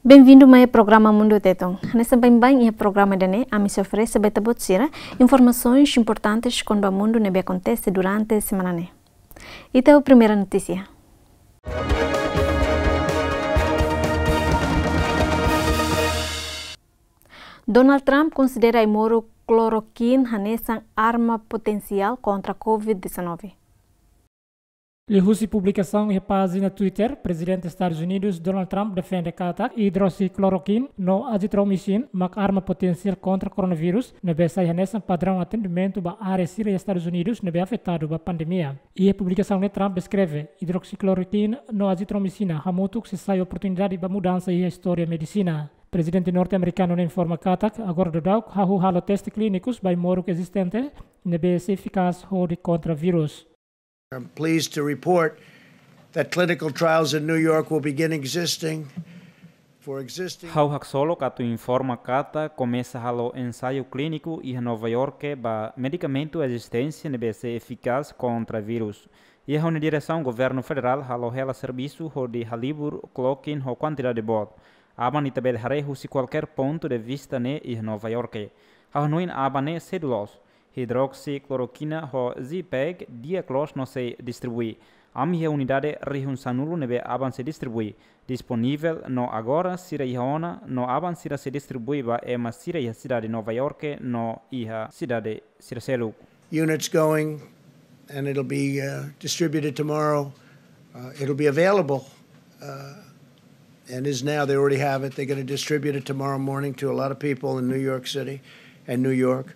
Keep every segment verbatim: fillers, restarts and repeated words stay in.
Bem-vindo mai programa Mundu Tetun. Hanesan baibain iha programa ida-ne'e, ami sei oferese ba ita-boot sira informasaun importante kona-ba mundu ne'ebé akontese durante semana ne'e. Ita ho primeira notísia. Donald Trump konsidera ai-moruk chloroquine hanesan arma potensiál kontra covid dezanove. Liuhusi publikasaun iha pájina Twitter, Prezidente Estadus Unidus, Donald Trump, defende katak idroksicloroquine no azithromycin mak arma potensiál kontra koronavírus, ne'ebé sai hanesan padraun atendimentu ba área sira iha Estadus Unidus ne'ebé afetadu ba pandemia. Iha publikasaun ne'e Trump deskreve idroksicloroquine no azithromycina hamutuk sei sai oportunidade ba mudansa iha istória medisina. Prezidente norte-amerikanu ne'e informa katak agora daudauk hahú halo teste klínikus ba ai-moruk ezistente ne'ebé sei efikás hodi kontra vírus. I'm pleased to report that clinical trials in New York will begin existing for existing. Ha'u haksolok atu informa katak komesa halo ensaiu klíniku iha Nova Iorke ba medikamentu ezistente ne'ebé sei efikás kontra vírus. Iha ha'u-nia diresaun governu federál halo hela servisu hodi halibur chloroquine ho kuantidade boot. Aban ita bele haree husi kualkér pontu de vista ne'e iha Nova Iorke. Ha'u hanoin aban ne'e sedu loos. Hidroksicloroquina ho Z-Pak di'ak loos no sei distribui. Ami iha unidade rihun sanulu ne'ebé aban sei distribui. Disponivel no agora sira iha ona no aban sira sei distribui ba ema sira iha sidade Nova Iorke no iha sidade sira seluk. Units going, and it'll be, uh, distributed tomorrow. Uh, it'll be available, uh, and is now. They already have it. They're gonna distribute it tomorrow morning to a lot of people in New York City and New York.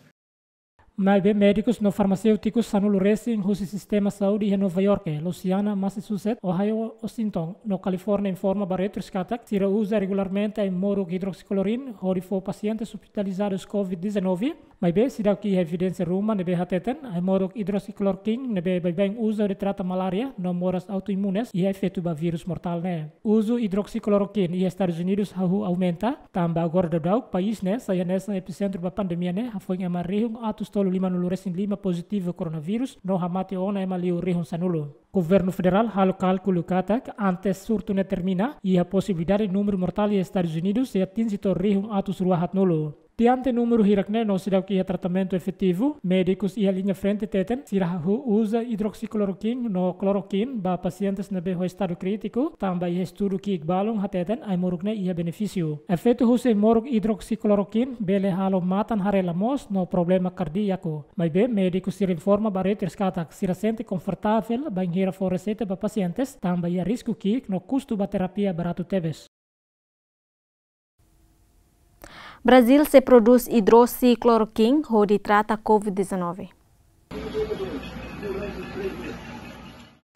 Maibé médikus no farmaséutikus sanulu resin husi sistema saúde iha Nova Iorke, Louisiana, Massachusetts, Ohio, Washington, no California informa ba Reuters katak sira uza regularmente ai-moruk hidroksicloroquine hodi fó pasientes ospitalizadus covid dezanove, maibé seidauk iha evidénsia ruma ne'ebé hateten ai-moruk hidroksicloroquine ne'ebé baibain uza hodi trata malária no moras autoimunes iha efeitu ba vírus mortál ne'e. Uzu hidroksicloroquine iha Estadus Unidus hahú aumenta, tanba agora daudauk país ne'e sai hanesan episentru ba pandemia ne'e, hafoin ema rihun atus tolu limanulu resin lima pozitivu koronavírus no hamate ona ema liu rihun sanulu. Governu federál halo kálkulu katak antes surtu ne'e termina, iha posibilidade númeru mortál iha Estadus Unidus sei atinje to'o rihun atus rua haatnulu. Diante númeru hirak ne'e no seidauk iha tratamentu efetivu, médikus iha liña frente hateten sira hahú uza hidroksicloroquine no chloroquine ba pasientes ne'ebé ho estadu krítiku, tanba iha estudu ki'ik balun hateten ai-moruk ne'e iha benefísiu. Efeitu husi ai-moruk hidroksicloroquine bele halo matan haree la moos no problema kardíaku. Maibé médiku sira informa ba Reuters katak sira sente konfortavel bainhira fó reseita ba pasientes, tanba iha risku ki'ik no kustu ba terapia baratu tebes. Brazil sei prodús hidroksicloroquine hodi trata covid dezanove.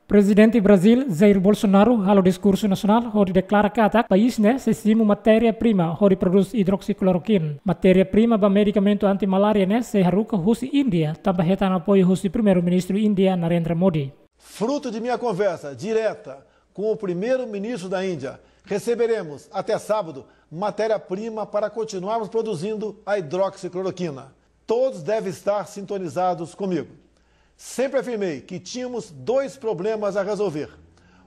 Prezidente Brazil, Jair Bolsonaro, halo diskursu nasionál hodi deklara katak país ne'e sei simu matéria-prima hodi prodús hidroksicloroquine. Matéria-prima ba medikamentu anti-malária ne'e sei haruka husi Índia, tanba hetan apoiu husi Primeiru-Ministru Índia, Narendra Modi. Fruto de minha conversa direta com o primeiro-ministro da Índia, receberemos até sábado matéria-prima para continuarmos produzindo a hidroxicloroquina. Todos devem estar sintonizados comigo. Sempre afirmei que tínhamos dois problemas a resolver: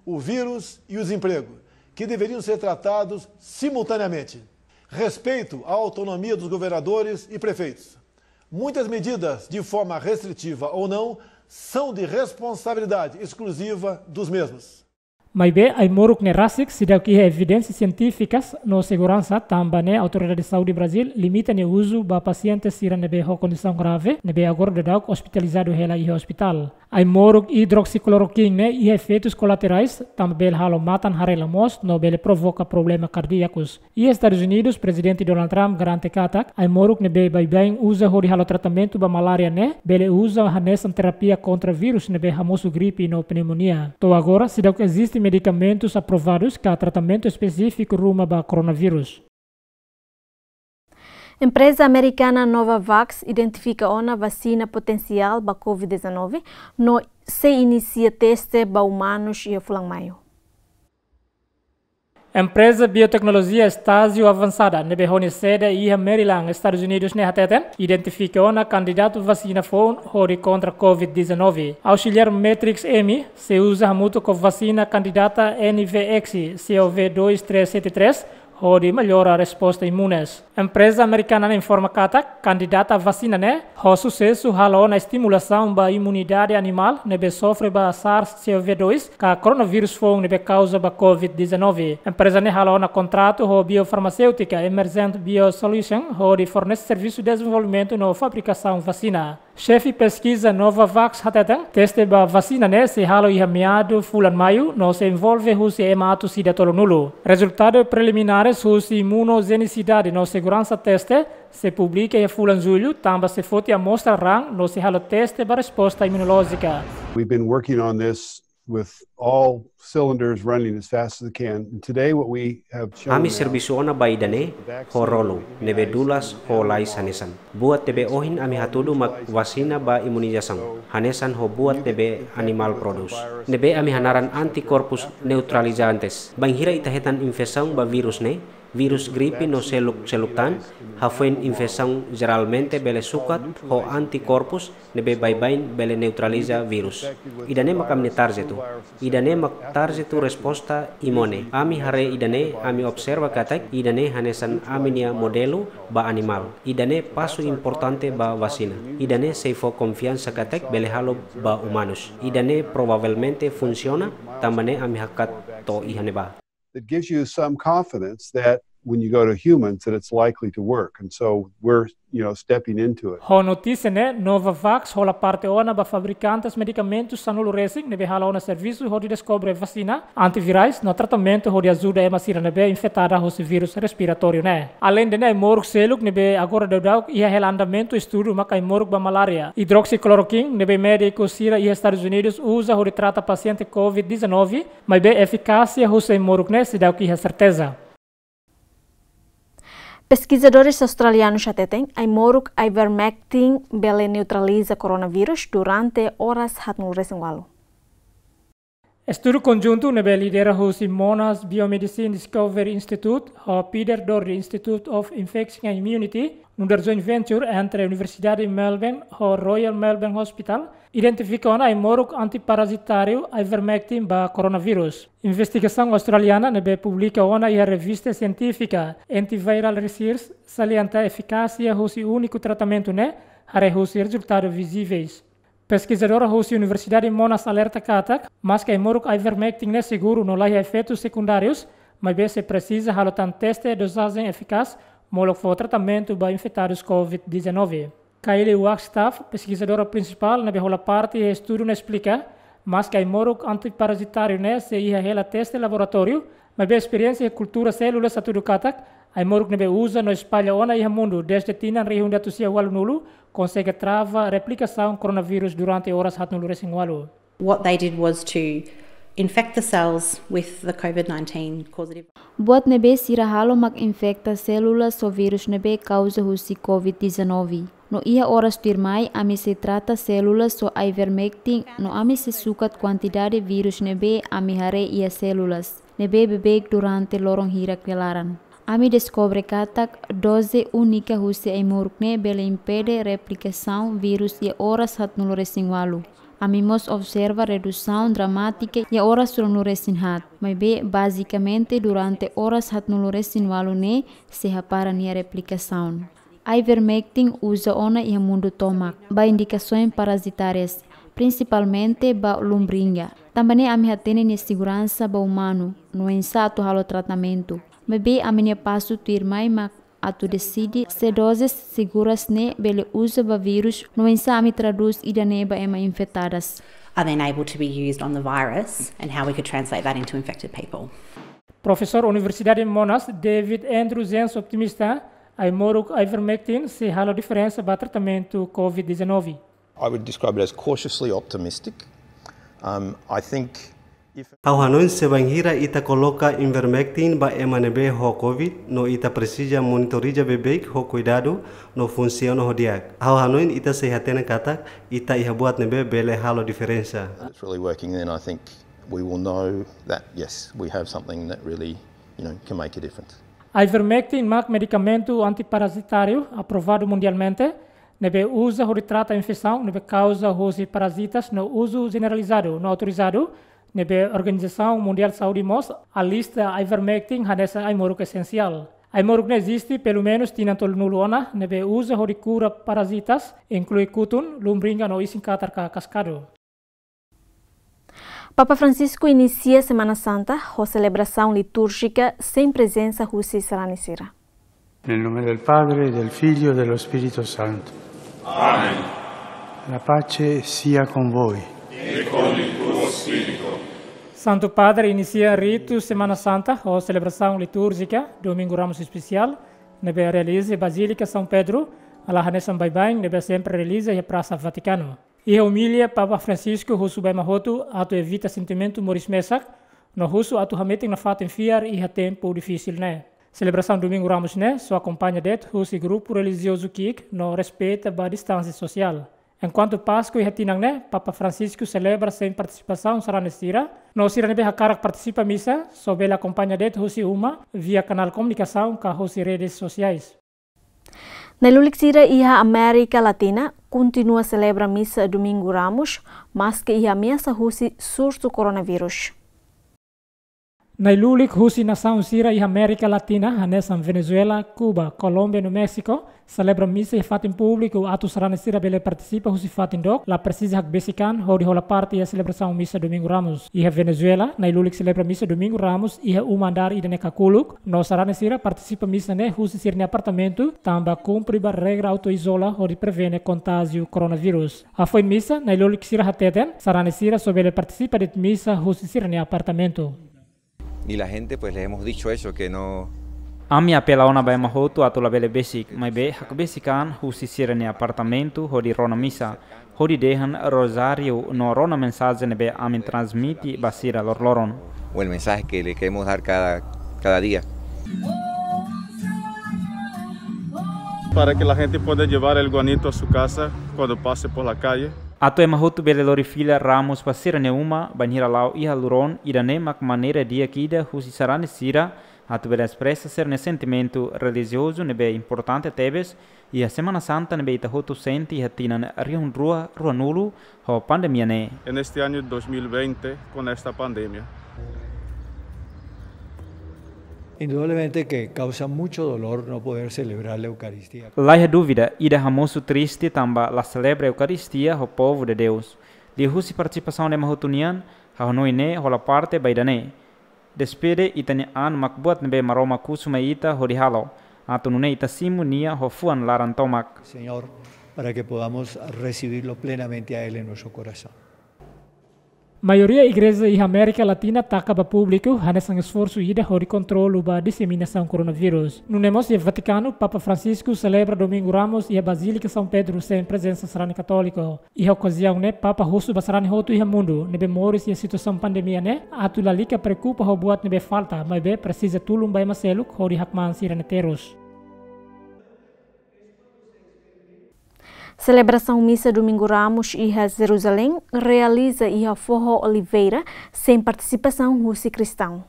o vírus e o desemprego, que deveriam ser tratados simultaneamente. Respeito à autonomia dos governadores e prefeitos. Muitas medidas, de forma restritiva ou não, são de responsabilidade exclusiva dos mesmos. Maibé ai-moruk ne'e rasik seidauk iha evidénsia sientífikas no seguransa, tanba ne'e Autoridade Saúde Brazil limita nia uzu ba pasiente sira ne'ebé ho kondisaun grave, ne'ebé agora daudauk ospitalizadu hela iha ospitál. Ai-moruk hidroksicloroquine ne'e iha efeitus kolaterais, tanba bele halo matan haree la moos no bele provoka problema kardíakus. Iha Estadus Unidus, Prezidente Donald Trump garante katak ai-moruk ne'ebé baibain uza hodi halo tratamentu ba malária ne'e bele uza hanesan terapia kontra vírus ne'ebé hamosu gripe no pneumonia. To'o agora seidauk eziste medikamentus aprovadus ka tratamentu espesífiku ruma ba koronavírus. Empreza amerikana Novavax identifika ona vasina potensiál ba covid dezanove no sei inisia teste ba umanus iha fulan Maiu. Empreza bioteknolojia estájiu avansada ne'ebé ho nia sede iha Maryland, Estadus Unidus ne'e hateten identifika ona kandidatu vasina foun hodi kontra covid dezanove. Auxiliar Matrix M sei uza hamutuk ho vasina kandidata N V X C O V dois três sete três hodi mellora resposta imunes. Empreza amerikana ne'e informa katak kandidata vasina ne'e ho susesu halo ona estimulasaun ba imunidade animál ne'ebé sofre ba SARS-CoV dois ka koronavírus foun ne'ebé kauza ba COVID dezanove. Empreza ne'e halo ona kontratu ho biofarmaséutika Emergent Biosolution hodi fornese servisu dezenvolvimentu no fabrikasaun vasina. Xefe peskiza Novavax hateten, teste ba vasina ne'e sei halo iha meadu fulan Maiu, no sei envolve husi ema atus ida tolunulu. Rezultadu preliminares husi imunojenisidade no seguransa teste sei publika iha fulan Jullu, tanba sei foti amostra raan no sei halo teste ba resposta imunolójika. We've been working on this with all cylinders running as fast as they can. And today what we have shown Ami now servisu ona ba ida-ne'e ho rolu ne'ebé dulas ho lais hanesan. Buat ne'ebé ohin ami hatudu mak vasina ba imunizasaun, hanesan ho buat ne'ebé animál prodús, ne'ebé ami hanaran antikorpus neutralizantes. Bainhira ita hetan infesaun ba vírus ne'e, vírus gripe no seluk-seluk tan, hafoin infesaun jeralmente bele sukat ho antikorpus ne'ebé baibain bele neutraliza vírus. Ida-ne'e mak ami-nia tarjetu. Ida-ne'e mak tarjetu resposta imune. Ami haree ida-ne'e, ami observa katak ida-ne'e hanesan ami-nia modelu ba animál. Ida-ne'e pasu importante ba vasina. Ida-ne'e sei fó konfiansa katak bele halo ba umanus. Ida-ne'e provavelmente funsiona, tanba ne'e ami hakat to'o iha ne'ebá. That gives you some confidence that when you go to humans that it's likely to work. And so we're, you know, stepping into it. Ho notísia ne'e, Novavax hola parte ona ba fabrikantes medikamentu sanulu resin ne'ebé halo ona servisu hodi deskobre vasina, antivirais no tratamentu hodi ajuda ema sira ne'ebé infetada husi vírus respiratóriu ne'e. Aleinde ne'e, ai-moruk seluk ne'ebé agora daudauk iha hela andamentu estudu mak ai-moruk ba malária. Hidroksiklorokin ne'ebé médiku sira iha Estadus Unidus uza hodi trata pasiente COVID dezanove, maibé efikásia husi ai-moruk ne'e seidauk iha serteza. Peskizadores australianus hateten, ai-moruk ivermectin bele neutraliza koronavírus durante oras haatnulu resin ualu. Estudu konjuntu ne'ebé lidera husi Monash Biomedicine Discovery Institute ho Peter Doherty Institute of Infection and Immunity, nu'udar joint venture entre Universidade Melbourne ho Royal Melbourne Hospital, identifika ona ai-moruk antiparasitáriu ivermectin ba koronavírus. Investigasaun australiana ne'ebé publika ona iha revista sientífika Antiviral Research salienta efikásia husi úniku tratamentu ne'e haree husi rezultadu vizivel. Peskizadora husi Universidade Monash alerta katak, maske ai-moruk ivermectin ne'e seguru no laiha efeitus sekundárius, maibé sei presiza halo tan teste dozajen efikás molok fó tratamentu ba infetadus COVID dezanove. Kylie Wagstaff, peskizadora prinsipál ne'ebé hola parte iha estudu ne'e esplika, maske ai-moruk antiparasitáriu ne'e sei iha hela teste laboratóriu, maibé esperiénsia iha kultura sélula hatudu katak, ai-moruk ne'ebé uza no espalla ona iha mundu dezde tinan rihun ida atus sia ualunulu, konsege trava replikasaun koronavírus durante oras haatnulu resin ualu. What they did was to infect the cells with the COVID nineteen causative. Buat ne'ebé sira halo mak infekta sélula ho vírus ne'ebé kauza husi COVID dezanove. No iha oras tuirmai, ami sei trata sélula ho ivermectin, no ami sei sukat kuantidade vírus ne'ebé ami haree iha sélula ne'ebé beibeik durante loron hirak nia laran. Ami deskobre katak doze únika husi ai-moruk ne'e bele impede replikasaun vírus iha oras haatnulu resin ualu. Ami mós observa redusaun dramátika iha oras ruanulu resin haat, maibé bazikamente durante oras haatnulu resin ualu ne'e sei hapara nia replikasaun. Ivermectin uza ona iha mundu tomak, ba indikasoens parasitárias, prinsipalmente ba lumbriga. Tanba ne'e ami hatene nia seguransa ba umanu, no oinsá atu halo tratamentu. Maibé ami-nia pasu tuirmai mak atu deside se dozes seguras ne'e bele uza ba vírus, no oinsá ami tradús ida-ne'e ba ema infetadas. Are then able to be used on the virus and how we could translate that into infected people. Profesór Universidade Monash, David Andrew Jensen optimista, ai-moruk ivermectin sei halo diferensa ba tratamentu COVID dezanove. I would describe it as cautiously optimistic. Um, I think if Ha'u hanoin se bainhira ita koloka ivermectin ba ema ne'ebé ho COVID, no ita presiza monitoriza beibeik ho kuidadu, no funsiona ho di'ak. Ha'u hanoin ita sei hatene katak ita iha buat ne'ebé bele halo diferensa. It's really working, then I think we will know that, yes, we have something that really, you know, can make a difference. Ivermectin mak medikamentu antiparasitáriu aprovadu mundialmente, ne'ebé uza hodi trata infesaun ne'ebé kauza husi parazitas no uzu jeneralizadu no autorizadu Ne'ebé Organizasaun Mundiál Saúde mós alista ivermectin hanesan ai-moruk esensiál. Ai-moruk ne'e eziste pelumenus tinan tolunulu ona, ne'ebé uza hodi kura parazitas, inklui kutun, lumbringa no isin-katar ka kaskadu. Papa Francisco inisia Semana Santa ho selebrasaun litúrjika sein prezensa husi sarani sira. Nel nome del Padre, del Figlio e dello Spirito Santo. Amen. La pace sia con voi. Santu Padre inisia ritu Semana Santa ho selebrasaun litúrjika Domingu Ramus espesiál, ne'ebé realiza iha Bazílika São Pedro, hala'o hanesan baibain ne'ebé sempre realiza iha Prasa Vatikanu. Iha omilia, Papa Francisco husu ba ema hotu atu evita sentimentu moris mesak, no husu atu hametin nafatin fiar iha tempu difisil ne'e. Selebrasaun Domingu Ramus ne'e só akompaña de'it husi grupu relijiozu ki'ik no respeita ba distánsia sosiál. Enkuantu Páskua iha tinan ne'e, Papa Francisco selebra sein partisipasaun sarani sira, no sira ne'ebé hakarak partisipa misa só bele akompaña de'it husi uma via kanál komunikasaun ka husi redes sosiais. Nai-lulik sira iha Amérika Latina kontinua selebra misa Domingu Ramus, maske iha ameasa husi surtu koronavírus. Nai-lulik husi nasaun sira iha Amérika Latina, hanesan Venezuela, Kuba, Kolómbia no Méxiku, selebra misa iha fatin públiku atu sarani sira bele partisipa husi fatin dook, la presiza hakbesik an hodi hola parte iha selebrasaun misa Domingu Ramus. Iha Venezuela, nai-lulik selebra misa Domingu Ramus iha uma andár ida-ne'e kakuluk, no sarani sira partisipa misa ne'e husi sira-nia apartamentu, tanba kumpre ba regra autoizola hodi prevene kontájiu koronavírus. Hafoin misa, nai-lulik sira hateten, sarani sira só bele partisipa de'it misa husi sira-nia apartamentu. Y la gente, pues, les hemos dicho eso, que no. Ami apela ona ba ema hotu atu labele besik, maibé hakbesik an husi sira-nia apartamentu hodi rona misa, hodi dehan rozáriu no rona mensajen ne'ebé ami transmite ba sira loroloron. O el mensaje que le queremos dar cada, cada día. Para que la gente pueda llevar el guanito a su casa cuando pase por la calle. Atu ema hotu bele lori fila ramus ba sira-nia uma, bainhira la'o iha luron, ida-ne'e mak maneira di'ak ida husi sarani sira atu bele espresa sira-nia sentimentu relijiozu ne'ebé importante tebes iha Semana Santa ne'ebé ita hotu sente iha tinan rihun rua ruanulu ho pandemia ne'e. En este año dos mil veinte, con esta pandemia. Indudablemente que causa mucho dolor no poder celebrar la Eucaristía. Laiha dúvida, ida hamosu triste tanba la selebra Eukaristia ho povu de Deus. Liuhusi partisipasaun ema hotu nian, ha'u hanoin ne'e hola parte ba ida-ne'e. Despede ita-nia an mak buat ne'ebé Maromak husu mai ita hodi halo, atu nune'e ita simu Nia ho fuan laran tomak. Señor, para que podamos recibirlo plenamente a Él en nuestro corazón. Maioria igreja iha Amérika Latina taka ba públiku hanesan esforsu ida hodi kontrolu ba diseminasaun koronavírus. Nune'e mós iha Vatikanu, Papa Francisco selebra Domingu Ramus iha Bazílika São Pedro sein prezensa sarani katóliku. Iha okaziaun ne'e, Papa husu ba sarani hotu iha mundu ne'ebé moris iha situasaun pandemia ne'e atu lalika preokupa ho buat ne'ebé falta, maibé presiza tulun ba ema seluk hodi hakmaan sira-nia terus. Selebrasaun misa Domingu Ramus iha Jeruzalén realiza iha foho oliveira sein partisipasaun husi kristaun.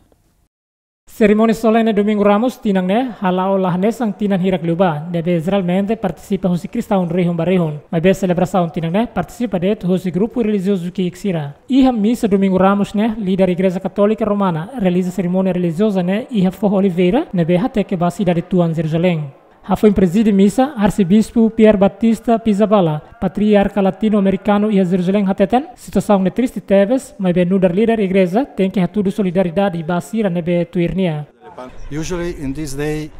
Serimónia solene Domingu Ramus tinan ne'e hala'o la hanesan tinan hirak liubá, ne'ebé jeralmente partisipa husi kristaun rihun ba rihun. Maibé selebrasaun tinan ne'e partisipa de'it husi grupu relijiozu ki'ik sira. Iha misa Domingu Ramus ne'e, líder Igreja Katólika Romana realiza serimónia relijioza ne'e iha foho oliveira, ne'ebé hateke ba sidade tuan Jeruzalén. Hafoin prezide misa, Arsebispu Pier Battista Pizzaballa, patriarka latino-amerikanu iha Jeruzalén hateten, situasaun ne'e triste tebes, maibé nu'udar líder igreja tenke hatudu solidariedade ba sira ne'ebé tuir nia. Usually in this day,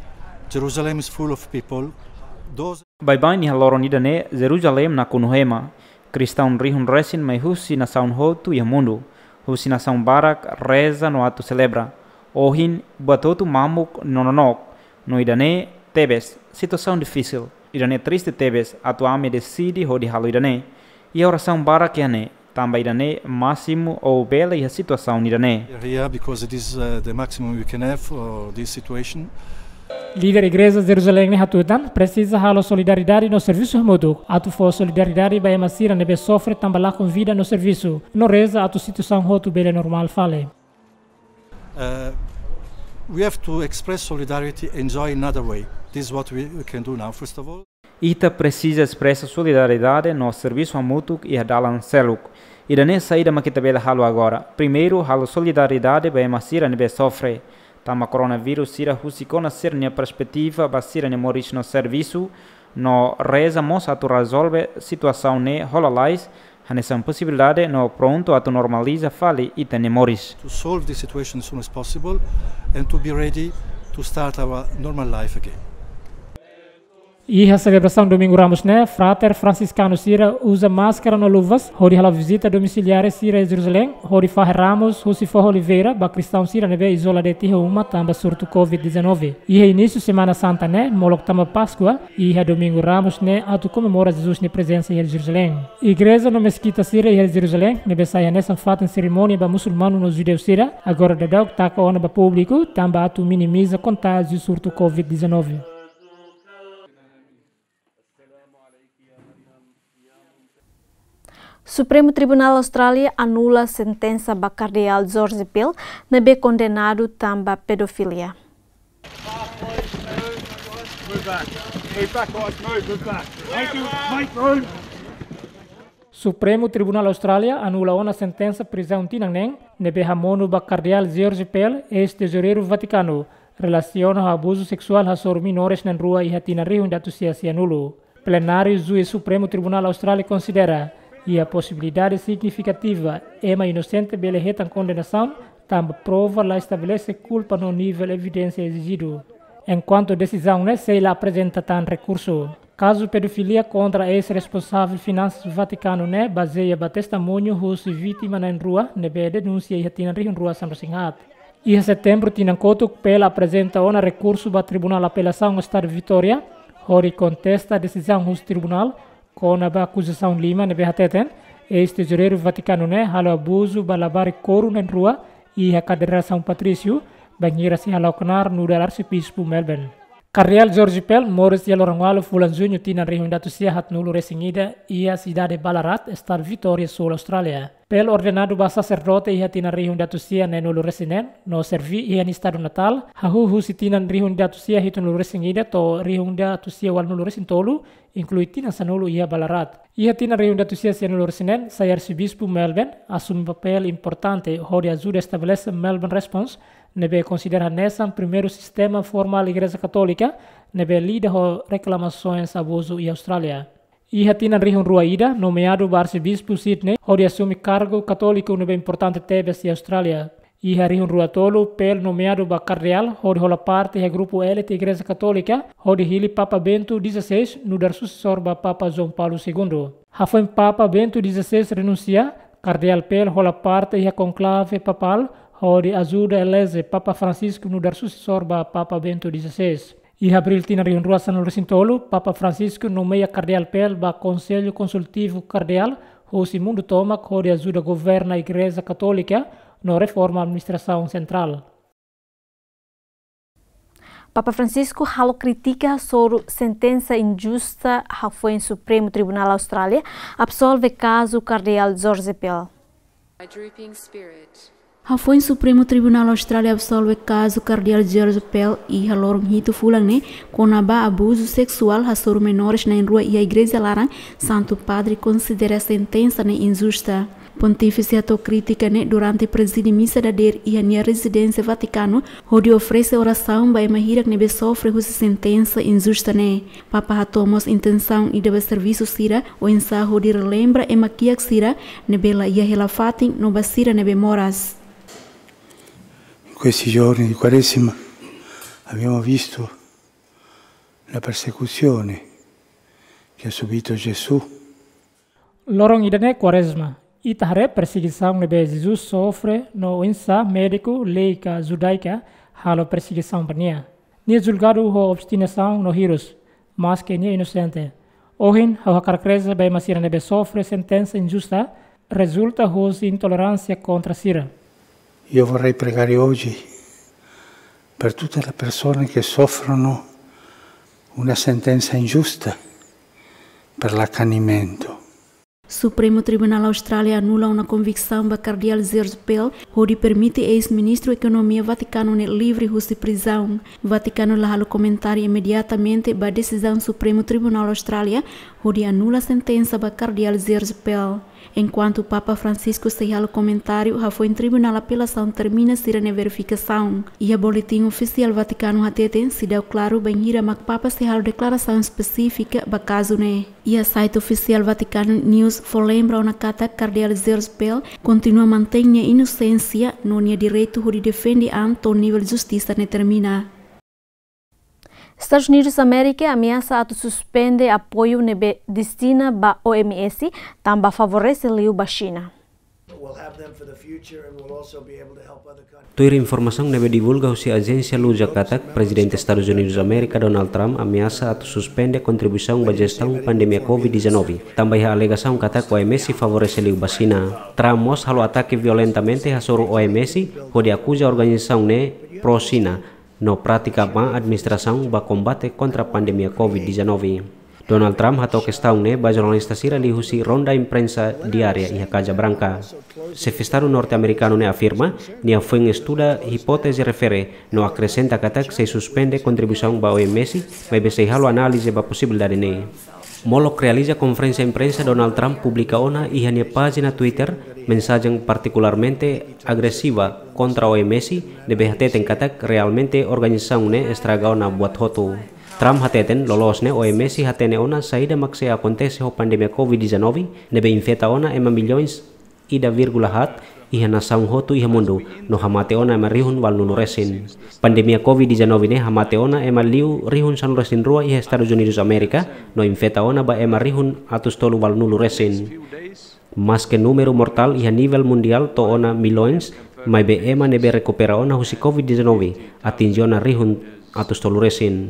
Jerusalem is full of people. Those Baibain iha loron ida-ne'e, Jeruzalém nakonu ho ema. Kristaun rihun resin mai husi nasaun hotu iha mundu, husi nasaun barak reza no atu selebra. Ohin, buat hotu mamuk no nonook, no ida-ne'e tebes situasaun difisil. Ida-ne'e triste tebes atu ami deside hodi halo ida-ne'e. Iha orasaun barak iha ne'e, tanba ida-ne'e másimu ou bele iha situasaun ida-ne'e. We are here because it is, uh, the maximum we can have for this situation. Líder Igreja Jeruzalén ne'e hatutan, presiza halo solidariedade no servisu hamutuk, atu fó solidariedade ba ema sira ne'ebé sofre tanba lakon vida no servisu, no reza atu situasaun hotu bele normál fali. Uh, we have to express solidarity and joy in another way. This is what we, we can do now, first of all. Ita presiza espresa solidariedade no servisu hamutuk iha dalan seluk. Ida-ne'e saida mak ita bele halo agora? Primeiru, halo solidariedade ba ema sira ne'ebé sofre. Tanba koronavírus sira husik ona sira-nia perspetiva ba sira-nia moris no servisu, no reza mós atu rezolve situasaun ne'e ho lalais, hanesan posibilidade no prontu atu normaliza fali ita-nia moris. To solve this situation as soon as possible and to be ready to start our normal life again. Iha selebrasaun Domingu Ramus ne'e, frater fransiskanu sira uza máskara no luvas, hodi hala'o vizita domisiliária sira iha Jerusalém, hodi fahe ramus husi foho oliveira ba kristaun sira ne'ebé izola de'it iha uma tanba surtu covid dezanove. Iha inísiu Semana Santa ne'e, molok tanba Páskua, iha Domingu Ramus ne'e atu komemora Jesus nia prezensa iha Jerusalém. Igreja no meskita sira iha Jerusalém, ne'ebé sai hanesan fatin serimónia ba musulmanu no judeu sira, agora daudauk taka ona ba públiku, tanba atu minimiza kontájiu surtu covid dezanove. Supremu Tribunál Austrália anula sentensa ba Kardeál George Pell, ne'ebé kondenadu tanba pedofilia. Move back. Move back, guys. Move, move back. Make, make room. Supremu Tribunál Austrália anula ona sentensa prizaun tinan neen ne'ebé hamonu ba Kardeál George Pell, eis-tezoureiru Vatikanu, relasiona ho abuzu seksuál hasoru menores na'in-rua iha tinan rihun ida atus sia sianulu. Plenáriu Juís Supremu Tribunál Austrália konsidera iha posibilidade signifikativa ema inosente bele hetan kondenasaun, tanba prova la estabelese kulpa no nivel evidénsia ezijidu. Enkuantu desizaun ne'e sei la aprezenta tan rekursu. Kazu pedofilia kontra eis-responsavel finansas Vatikanu ne'e bazeia ba testemuñu husi vítima na'in-rua ne'ebé denunsia iha tinan rihun rua sanulu-resin-haat. Iha Setembru tinan kotuk, Pell aprezenta ona rekursu ba Tribunál Apelasaun Estadu Vitória, hodi kontesta desizaun husi tribunál kona-ba akuzasaun lima ne'ebé hateten, eis-tezoureiru Vatikanu ne'e halo abuzu ba labarik korun na'in-rua iha kadeira São Patrício, bainhira sei hala'o knaar nu'udar Arsebispu Melbourne. Kardeál George Pell moris iha loron ualu fulan Juñu tinan rihun ida atus sia haatnulu-resin-ida iha sidade Ballarat, Estadu Vitória, Súl Austrália. Pell ordenadu ba saserdote iha tinan rihun ida atus sia neenulu-resin-neen, no serví iha nia estadu natál, hahú husi tinan rihun ida atus sia hitunulu-resin-ida to'o rihun ida atus sia ualunulu-resin-tolu, inklui tinan sanulu iha Ballarat. Iha tinan rihun ida atus sia sianulu-resin-neen, sai Arsebispu Melbourne, asume papél importante hodi ajuda estabelese Melbourne Response, ne'ebé konsidera hanesan primeiru sistema formál Igreja Katólika ne'ebé lida ho reklamasoens abuzu iha Austrália. Iha tinan rihun rua ida, nomeadu ba Arsebispu Sydney hodi asume kargu katóliku ne'ebé importante tebes iha Austrália. Iha rihun rua tolu, Pell nomeadu ba kardeál hodi hola parte iha grupu élite Igreja Katólika, hodi hili Papa Bento dezasseis nu'udar susesór ba Papa João Paulo Segundo. Hafoin Papa Bento dezasseis renunsia, Kardeál Pell hola parte iha konklave papál, hodi ajuda eleze Papa Francisco nu'udar susesór ba Papa Bento dezasseis. Iha Abríl tinan rihun rua sanulu-resin-tolu, Papa Francisco nomeia Kardeál Pell ba Konsellu Konsultivu Kardeál husi mundu tomak hodi ajuda governa Igreja Katólika no reforma administrasaun sentrál. Papa Francisco halo krítika hasoru sentensa injusta hafoin Supremu Tribunál Austrália absolve kazu Kardeál George Pell. My drooping spirit. Hafoin Supremu Tribunál Austrália absolve kazu Kardeál George Pell iha loron hitu fulan ne'e, kona-ba abuzu seksuál hasoru menores na'in-rua iha igreja laran, Santu Padre konsidera sentensa ne'e injusta. Pontífise hato'o krítika ne'e durante prezide misa dadeer iha nia rezidénsia Vatikanu, hodi oferese orasaun ba ema hirak ne'ebé sofre husi sentensa injusta ne'e. Papa hato'o mós intensaun ida ba servisu sira, oinsá hodi relembra ema kiak sira ne'ebé la iha hela fatin no ba sira ne'ebé moras. In questi giorni di Quaresima abbiamo visto la persecuzione che ha subito Gesù. Loron ida-ne'e Kuarezma, ita haree persegisaun ne'ebé Jesus sofre no oinsá médiku, lei ka judaika halo persegisaun ba nia. Nia julgadu ho obstinasaun no hirus, maske nia inosente. Ohin, ha'u hakarak reza ba ema sira ne'ebé sofre sentensa injusta, rezulta husi intoleránsia kontra sira. Io vorrei pregare oggi per tutte le persone che soffrono una sentenza ingiusta per l'accanimento. Supremu Tribunál Austrália anula ona konviksaun ba Kardeál George Pell, hodi permite eis-ministru ekonomia Vatikanu ne'e livre husi prizaun. Vatikanu la halo komentáriu imediatamente ba desizaun Supremu Tribunál Austrália, hodi anula sentensa ba Kardeál Gilles Pell. Enkuantu Papa Francisco sei halo komentáriu, hafoin Tribunál Apelasaun termina sira-nia verifikasaun. Iha boletin ofisiál Vatikanu hateten, seidauk klaru bainhira mak Papa sei halo deklarasaun espesífika ba kazu ne'e. Iha site ofisiál Vatikanu News fó lembra ona katak Kardeál Gilles Pell kontinua mantein nia inosénsia no nia direitu hodi defende an to'o nivel justisa ne'e termina. Estadus Unidus Amérika ameasa atu suspende apoiu ne'ebé destina ba O M S, tanba favorese liu ba Xina. We'll have them for the future and we'll also be able to help other countries. Tuir informasaun ne'ebé divulga husi ajénsia Luja katak, Prezidente Estadus Unidus Amérika Donald Trump ameasa atu suspende kontribuisaun ba jestaun pandemia covid dezanove, tanba iha alegasaun katak O M S favorese liu ba Xina. Trump mós halo atake violentamente hasoru O M S, hodi akuza organizasaun ne'e pró-Xina no pratika má administrasaun ba kombate kontra pandemia covid dezanove. Donald Trump hato'o kestaun ne'e ba jornalista sira liuhusi ronda imprensa diária iha Kaza Branka. Xefe Estadu norte-amerikanu ne'e afirma, nia foin estuda hipóteze refere no akresenta katak sei suspende kontribuisaun ba O M S, maibé sei halo análize ba posibilidade ne'e. Molok realiza konferénsia imprensa, Donald Trump publika ona iha nia pájina Twitter mensajen partikularmente agresiva kontra O M S, ne'ebé hateten katak realmente organizasaun ne'e estraga ona buat hotu. Trump hateten loloos ne'e O M S hatene ona saida mak sei akontese ho pandemia covid dezanove, ne'ebé infeta ona ema milhões ida vírgula haat iha nasaun hotu iha mundu, no hamate ona ema rihun ualunulu resin. Pandemia covid dezanove ne'e hamate ona ema liu rihun sanulu resin rua iha Estadus Unidus Amérika, no infeta ona ba ema rihun atus tolu ualunulu resin. Maske númeru mortál iha nivel mundiál to'o ona milhões, maibé ema ne'ebé rekupera ona husi covid dezanove atinje ona rihun atus tolu resin.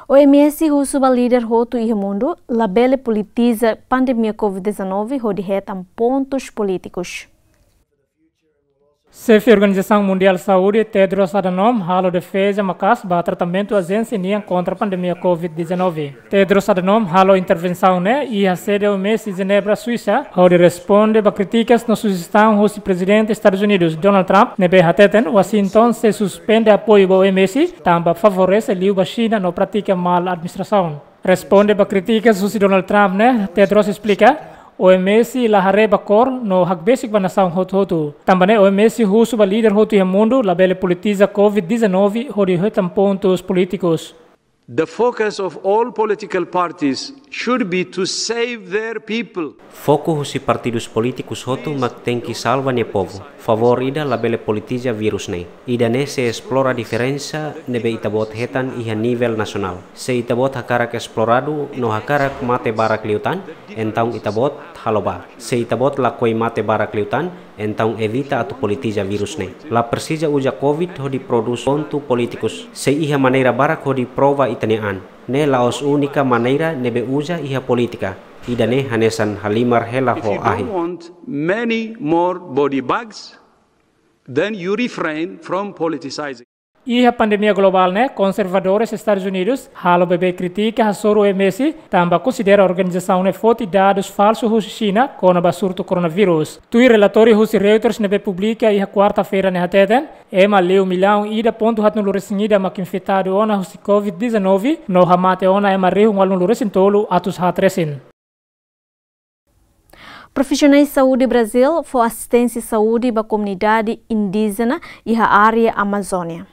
O M S husu ba líder hotu iha mundu labele politiza pandemia covid dezanove hodi hetan pontus polítikus. Xefe Organizasaun Mundiál Saúde, Tedros Adhanom, halo defeza maka'as ba tratamentu ajénsia nian kontra pandemia covid dezanove. Tedros Adhanom halo intervensaun ne'e iha sede O M S Jenebra, Suisa, hodi responde ba krítikas no sujestaun husi Prezidente Estadus Unidus, Donald Trump, ne'ebé hateten Washington sei suspende apoiu ba O M S, tanba favorese liu ba Xina no pratika mal administrasaun. Responde ba krítikas husi Donald Trump ne'e, Tedros esplika, O M S la haree ba kór no hakbesik ba nasaun hotu-hotu. Tanba ne'e O M S husu ba líder hotu iha mundu labele politiza covid dezanove hodi hetan pontus polítikus. The focus of all political parties should be to save their people. Foku husi partidus polítikus hotu mak tenke salva nia povu. Favór ida labele politiza vírus ne'e. Ida-ne'e sei esplora diferensa ne'ebé ita-boot hetan iha nivel nasionál. Se ita-boot hakarak esploradu no hakarak mate barak liután, entaun ita-boot halo bá. Se ita-boot lakohi mate barak liután, entaun evita atu politiza vírus ne'e. La presiza uza covid hodi prodús pontu polítikus. Sei iha maneira barak hodi prova ita-nia an. Ne'e la'ós únika maneira ne'ebé uza iha polítika. Ida-ne'e hanesan halimar hela ho ahi. If you don't want many more body bags, then you refrain from politicizing. Iha pandemia globál ne'e, konservadores Estadus Unidus halo bebé krítika hasoru O M S, tanba konsidera organizasaun ne'e foti dadus falsu husi Xina kona-ba surtu koronavírus. Tuir relatóriu husi Reuters ne'ebé publika iha kuarta-feira ne'e hateten, ema liu millaun ida pontu haatnulu resin ida mak infetadu ona husi covid dezanove, no hamate ona ema rihun ualunulu resin tolu atus haat resin. Profisionais saúde Brazil fó asisténsia saúde ba komunidade indíjena iha área Amazónia.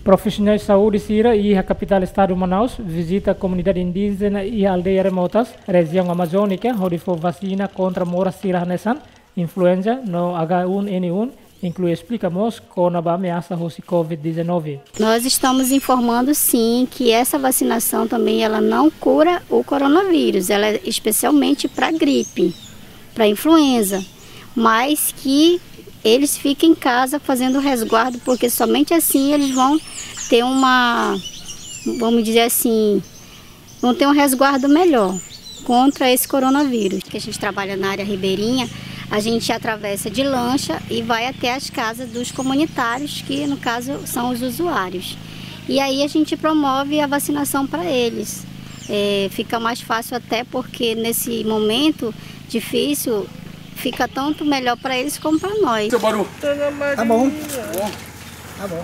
Profisionais saúde sira iha kapitál estadu Manaus vizita komunidade indíjena iha aldeia remotas, rejiaun Amazónika, hodi fó vasina kontra moras sira hanesan influenza no H um N um, inklui esplika mós kona-ba ameasa husi covid dezanove. Nós estamos informando, sim, que essa vacinação também ela não cura o coronavírus, ela é especialmente pra gripe, pra influenza, mas que eles fiquem em casa fazendo resguardo, porque somente assim eles vão ter uma, vamos dizer assim, vão ter um resguardo melhor contra esse coronavírus. Que a gente trabalha na área ribeirinha, a gente atravessa de lancha e vai até as casas dos comunitários, que no caso são os usuários. E aí a gente promove a vacinação pra eles. É, fica mais fácil até porque nesse momento difícil Fica tanto melhor para eles como para nós. Seu barulho. Tá bom. Tá bom.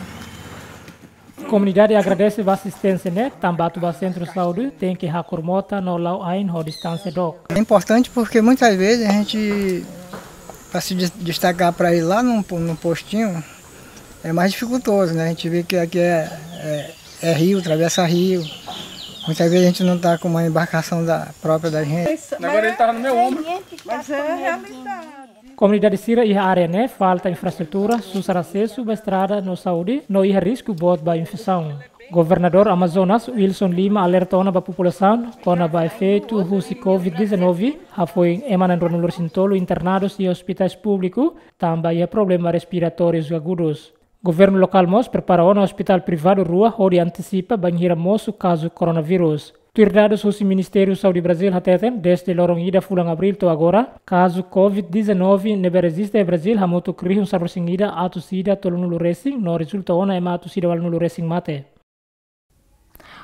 Komunidade agradese ba asisténsia ne'e, tanba atu ba sentru saúde tenke hakur mota no la'o ain ho distánsia dook. É importante porque muitas vezes a gente, para se des-, destacar para ir lá no, no postinho, é mais dificultoso, né? A gente vê que aqui é, é, é rio, atravessa rio. Muitas vezes a gente não tá com uma embarcação da, própria da gente. Agora ele tava no meu ombro. Mas é a realidade. Komunidade sira iha área ne'e falta infraestrutura, susar asesu ba estrada no saúde, no iha risku boot ba infesaun. Governadór Amazonas, Wilson Lima, alerta ona ba populasaun kona-ba efeitu husi covid dezanove, hafoin ema na'in ruanulu-resin-tolu internadu iha ospitais públiku, tanba iha problema respiratóriu agudus. Governu lokál mós prepara ona ospitál privadu rua hodi antesipa bainhira mosu kazu koronavírus. Tuir dadus husi Ministériu Saúde Brazil hateten, dezde loron ida fulan Abríl to'o agora, kazu covid dezanove ne'ebé rejista iha Brazil hamutuk rihun sanulu-resin-ida atus ida tolunulu-resin, no rezulta ona ema atus ida ualunulu-resin mate.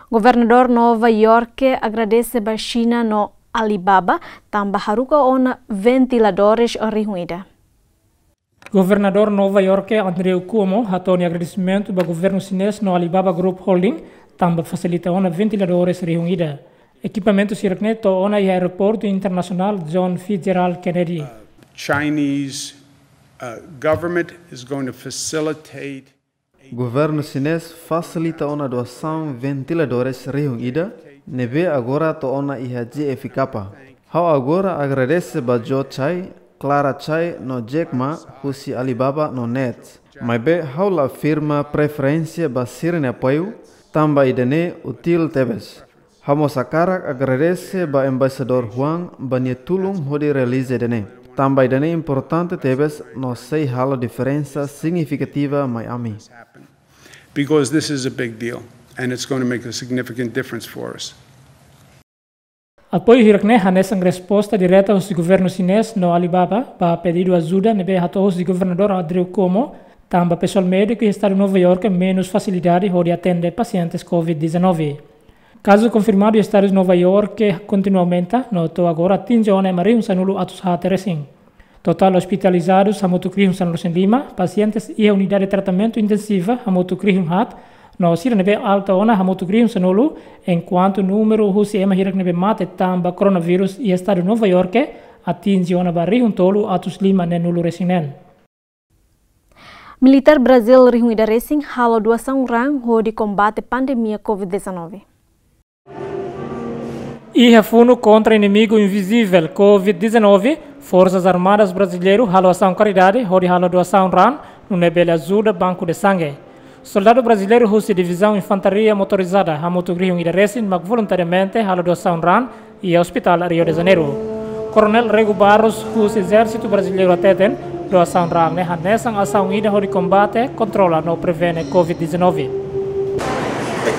Governadór Nova York agradese ba Xina no Alibaba, tanba haruka ona ventiladores rihun ida. Governadór Nova York, Andrew Cuomo, hato'o nia agradesimentu ba governu xinés no Alibaba Group Holding, tanba fasilita ona ventiladores rihun ida. Ekipamentu sira-ne'e to'o ona iha Aeroportu Internasionál John Fitzgerald Kennedy. Chinese, uh, government is going to facilitate. Governu xinés fasilita ona doasaun ventiladores rihun ida, ne'ebé agora to'o ona iha J F K. Ha'u agora agradese ba Joe Tsai, Clara Tsai no Jack Ma husi Alibaba no Net. Maibé ha'u la afirma preferénsia ba sira-nia apoiu, tanba ida-ne'e útil tebes. Ha'u mós hakarak agradese ba Embaixadór Huang ba nia tulun hodi realiza ida-ne'e. Tanba ida-ne'e importante tebes no sei halo diferensa signifikativa mai ami. Because this is a big deal, and it's going to make a significant difference for us. Apoiu hirak-ne'e hanesan resposta direta husi governu xinés no Alibaba ba pedidu ajuda ne'ebé hato'o husi Governadór Andrew Cuomo, tanba pesoál médiku iha estadu Nova York menus fasilidade hodi atende pasientes covid dezanove. Kazu konfirmadu iha estadu Nova York kontinua aumenta, no to'o agora atinje ona ema rihun sanulu atus haat resin. Totál ospitalizadus hamutuk rihun sanulu-resin-lima, pasientes iha unidade tratamentu intensiva hamutuk rihun haat, no sira ne'ebé alta ona hamutuk rihun sanulu, enkuantu númeru husi ema hirak ne'ebé mate tanba koronavírus iha estadu Nova York atinje ona ba rihun tolu atus lima neenulu-resin-neen. Militár Brazil rihun ida resin halo doasaun raan hodi kombate pandemia covid dezanove. Iha funu kontra inimigu invizivel covid dezanove, Forsas Armadas Brasileiru halo asaun karidade hodi halo doasaun raan, nune'e bele ajuda banku de sangue. Soldadu brasileiru husi Divizaun Infantaria Motorizada hamutuk rihun ida resin mak voluntariamente halo doasaun raan iha Ospitál Rio de Janeiro. Koronél Rego Barros husi Ezérsitu Brasileiru hateten, doasaun raan ne'e hanesan asaun ida hodi kombate, kontrola no prevene covid dezanove.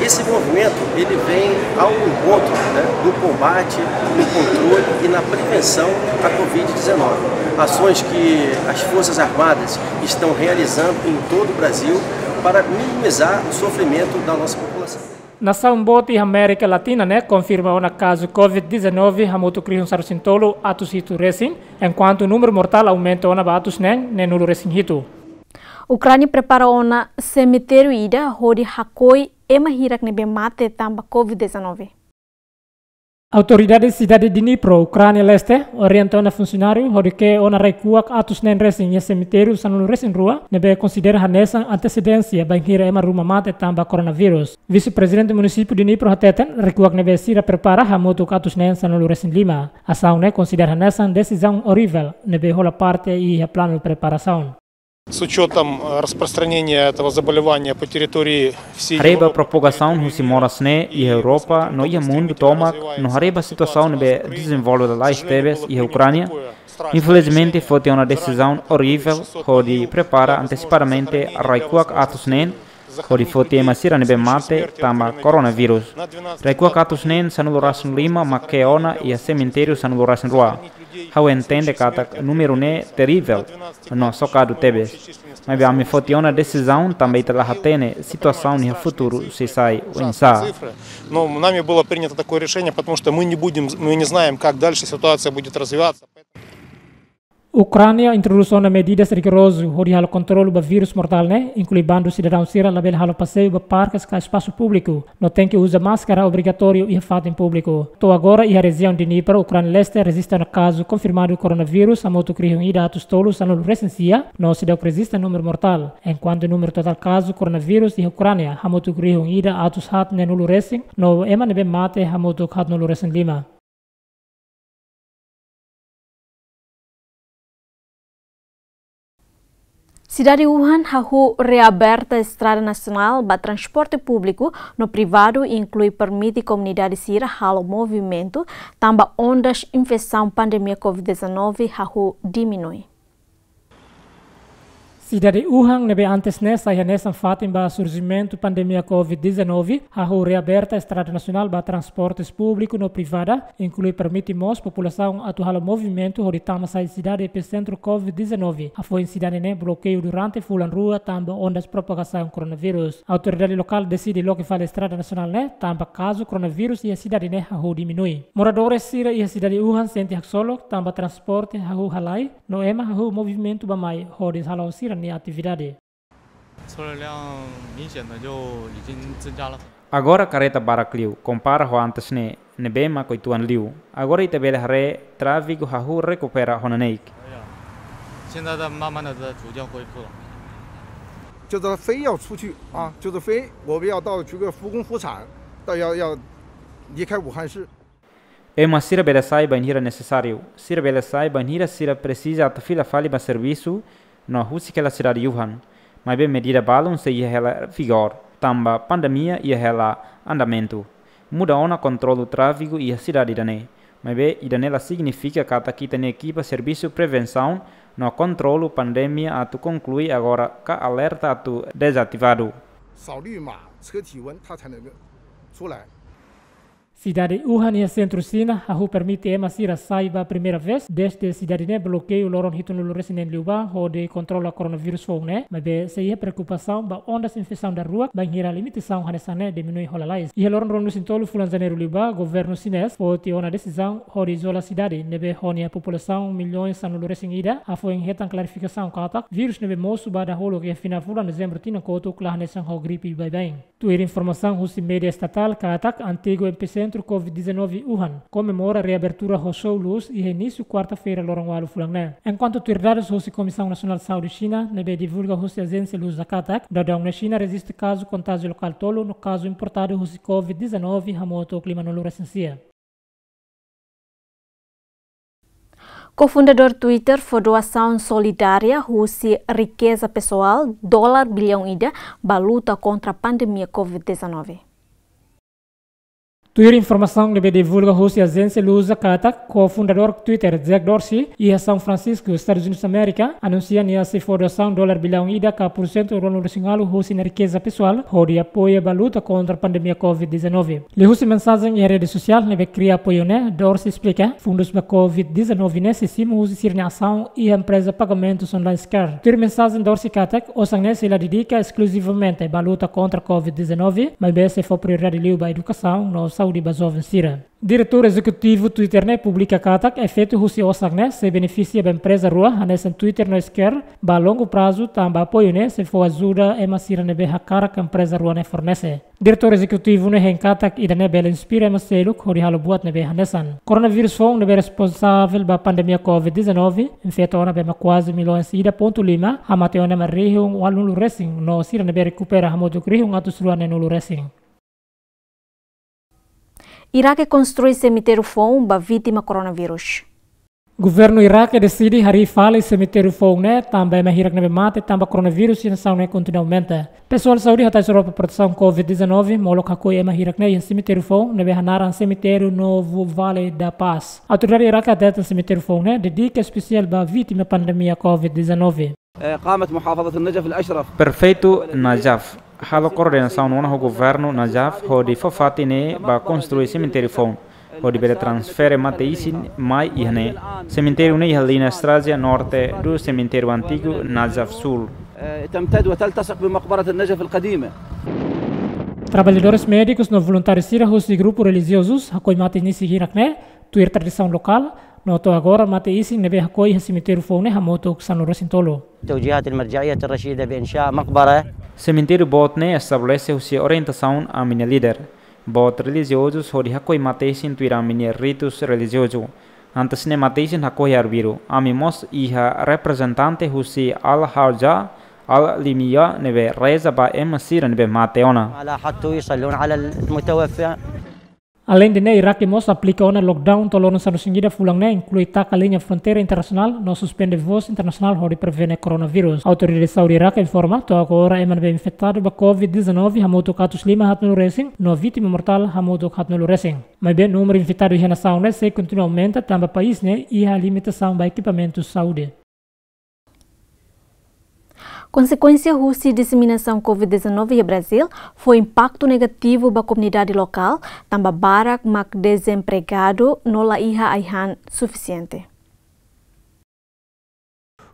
Esse movimento, ele vem ao encontro, né, do combate, no controle e na prevenção à covid dezanove. Ações que as Forças Armadas estão realizando em todo o Brasil para minimizar o sofrimento da nossa população. Nasaun boot iha Amérika Latina ne'e konfirma ona kazu covid dezanove hamutuk rihun sanulu-resin-tolu atus hitu resin, enkuantu númeru mortál aumenta ona ba atus neen neenulu-resin-hitu. Ukránia prepara ona semitériu ida hodi hakoi ema hirak ne'ebé mate tanba covid dezanove. Autoridade sidade Dnipro, Ukránia Leste, orienta ona funsionáriu hodi ke'e ona rai-kuak atus neen resin iha semitériu sanulu-resin-rua, ne'ebé konsidera hanesan antesedénsia bainhira ema ruma mate tanba koronavírus. Vise-prezidente munisípiu Dnipro hateten, rai-kuak ne'ebé sira prepara hamutuk atus neen sanulu-resin-lima. Asaun ne'e konsidera hanesan desizaun orivel, ne'ebé hola parte iha planu preparasaun. С учётом, э, распространения этого заболевания по территории всей Европы. Haree ba propagasaun husi moras ne'e iha Europa no iha mundu tomak, no haree ba situasaun ne'ebé dezenvolve lalais tebes iha Ukránia, infelizmente foti ona desizaun orivel hodi prepara antesipadamente rai-kuak atus neen, hodi foti ema sira ne'ebé mate tanba koronavírus. Rai-kuak atus neen sanulu-resin-lima mak ke'e ona iha semitériu sanulu-resin-rua. Ha'u entende katak númeru ne'e terivel no sokadu tebes. Maibé ami foti ona desizaun tanba ita la hatene situasaun iha futuru sei sai oinsá. Но нами было принято такое решение, потому что мы не будем, мы не знаем, как дальше ситуация будет развиваться. Ukránia introdús ona medidas rigorozu hodi halo kontrolu ba vírus mortál ne'e, inklui bandu sidadaun sira labele halo paseiu ba parkes ka espasu públiku, no tenke uza máskara obrigatóriu iha fatin públiku. To'o agora iha rejiaun Dnipro, Ukránia leste, rejista ona kazu konfirmadu koronavírus hamutuk rihun ida atus tolu sanulu resin sia, no seidauk rejista númeru mortál, enkuantu númeru totál kazu koronavírus iha Ukránia hamutuk rihun ida atus haat neenulu resin, no ema ne'ebé mate hamutuk haat nulu resin lima. Sidade Wuhan hahú reaberta estrada nasionál ba transporte públiku no privadu, inklui permite komunidade sira halo movimentu, tanba ondas infesaun pandemia covid dezanove hahú diminui. Sidade Wuhan ne'ebé antes ne'e sai hanesan fatin ba surjimentu pandemia covid dezanove, hahú reaberta estrada nasionál ba transportes públiku no privada, inklui permite mós populasaun atu halo movimentu hodi tama sai sidade episentru covid dezanove. Hafoin sidade ne'e blokeiu durante fulan rua tanba ondas propagasaun koronavírus. Autoridade lokál deside loke fali estrada nasionál ne'e tanba kazu koronavírus iha sidade ne'e hahú diminui. Moradores sira iha sidade Wuhan sente haksolok tanba transporte hahú halai, no ema hahú movimentu bá-mai hodi hala'o sira-nia atividade. 车流量明显的就已经增加了。 Agora karreta barak liu, kompara ho antes ne'e, ne'ebé mak uitoan liu. Agora ita bele haree tráfegu hahú rekupera ho neineik. 现在在慢慢的在逐渐恢复了。 就是非要出去啊，就是非我们要到这个复工复产，到要，要离开武汉市。 Ema sira bele sai bainhira nesesáriu, sira bele sai bainhira sira presiza atu fila fali ba servisu no husik hela sidade Wuhan. Maibé medida balun sei iha hela vigór, tanba pandemia iha hela andamentu. Muda ona kontrolu tráfegu iha sidade ida-ne'e. Maibé ida-ne'e la signifika katak ita-nia ekipa servisu prevensaun no kontrolu pandemia atu konklui agora ka alerta atu dezativadu. 扫绿码、测体温，它才能够出来。 Sidade Wuhan iha sentru Xina hahú permite ema sira sai ba primeira vez dezde sidade ne'e blokeiu loron hitunulu resin neen liubá hodi kontrola koronavírus foun ne'e, maibé sei iha preokupasaun ba ondas infesaun daruak bainhira limitasaun hanesan ne'e diminui ho lalais. Iha loron ruanulu resin tolu fulan Janeiru liubá, governu xinés foti ona desizaun hodi izola sidade ne'ebé ho nia populasaun milhões sanulu resin ida, hafoin hetan klarifikasaun katak vírus ne'ebé mosu ba dahuluk iha final fulan Dezembru tinan kotuk la hanesan ho gripe baibain. Tuir informasaun husi média estatál katak antigu episentru covid dezanove Wuhan komemora reabertura ho show lus iha inísiu kuarta-feira loron ualu fulan ne'e. Enkuantu tuir dadus husi Komisaun Nasionál Saúde Xina ne'ebé divulga husi ajénsia Lusa katak, daudaun ne'e Xina rejista kazu kontájiu lokál tolu no kazu importadu husi covid dezanove hamutuk limanulu resin sia. Kofundadór Twitter fó doasaun solidária husi rikeza pesoál dolar bilhão ida ba luta kontra pandemia covid dezanove. Tuir informasaun ne'ebé divulga husi ajénsia Lusa katak, kofundadór Twitter, Jack Dorsey, iha São Francisco, Estadus Unidus Amérika, anunsia nia sei fó doasaun dolar bilhão ida ka pursentu ruanulu resin ualu husi nia rikeza pesoál hodi apoia ba luta kontra pandemia covid dezanove. Liuhusi mensajen iha rede sosiál ne'ebé kria apoiu ne'e, Dorsey esplika, fundus ba covid dezanove ne'e sei simu husi sira-nia asaun iha empreza pagamentus online Square. Tuir mensajen Dorsey katak, osan ne'e sei la dedika eskluzivamente ba luta kontra covid dezanove, maibé sei fó prioridade liu ba edukasaun no saúde ba joven sira. Diretór Ezekutivu Twitter ne'e publika katak, efeitu husi osan ne'e sei benefisia ba empreza rua hanesan Twitter no Square ba longu prazu, tanba apoiu ne'e sei fó ajuda ema sira ne'ebé hakarak empreza rua ne'e fornese. Diretór Ezekutivu ne'e hein katak ida-ne'e bele inspira ema seluk hodi halo buat ne'ebé hanesan. Koronavírus foun ne'ebé responsavel ba pandemia covid dezanove infeta ona ba ema kuaze milhões ida pontu lima, hamate ona ema rihun ualunulu resin, no sira ne'ebé rekupera hamutuk rihun atus rua neenulu resin. Iraque konstrui semitériu foun ba vítima koronavírus. Governu Iraque deside harii fali semitériu foun ne'e, tanba ema hirak ne'ebé mate tanba koronavírus iha nasaun ne'e kontinua aumenta. Pesoál saúde hatais Europa protesaun covid dezanove, molok hakoi ema hirak ne'e iha semitériu foun ne'ebé hanaran Semitériu Novo Vale da Paz. Autoridade Iraque hateten semitériu foun ne'e dedika espesiál ba vítima pandemia covid dezanove. قامت محافظة النجف الأشرف. Prefeitu Najaf halo koordenasaun ona ho governu Najaf hodi fó fatin ne'e ba konstrui semitériu foun, hodi bele transfere mate-isin mai iha ne'e. Semitériu ne'e iha liña estrada norte do semitériu antigu Najaf Sul. تمتد وتلتصق بمقبرة النجف القديمة. Traballadores médikus no voluntáriu sira husi grupu relijiozus hakoi mate-isin hirak ne'e, tuir tradisaun lokál, No to'o agora mate isin ne'ebé hakoi iha semitériu foun ne'e hamutuk sanulu-resin-tolu. التوجيهات المرجعية الرشيدة بإنشاء مقبرة. Semitériu boot ne'e estabelese husi orientasaun ami-nia líder boot relijiozus hodi hakoi mate isin tuir ami-nia ritus relijiozu. Antes ne'e mate isin hakoi iha arbiru. Ami mós iha reprezentante husi Al-Hajja Al-Limia ne'ebé reza ba ema sira ne'ebé mate ona. على حتى يصلون على المتوفى. Aleinde ne'e, Iraque mós aplika ona lockdown to'o loron sanulu-resin-ida fulan ne'e, inklui taka liña fronteira internasionál no suspende voos internasionál hodi prevene koronavírus. Autoridade saúde Iraque informa, to'o agora ema ne'ebé infetadu ba covid dezanove hamutuk atus lima haatnulu-resin, no vítima mortál hamutuk haatnulu-resin. Maibé númeru infetadu iha nasaun ne'e sei kontinua aumenta tanba país ne'e iha limitasaun ba ekipamentu saúde. Konsekuénsia husi diseminasaun covid dezanove iha Brazil fó impaktu negativu ba komunidade lokál, tanba barak mak dezempregadu no la iha ai-han sufisiente.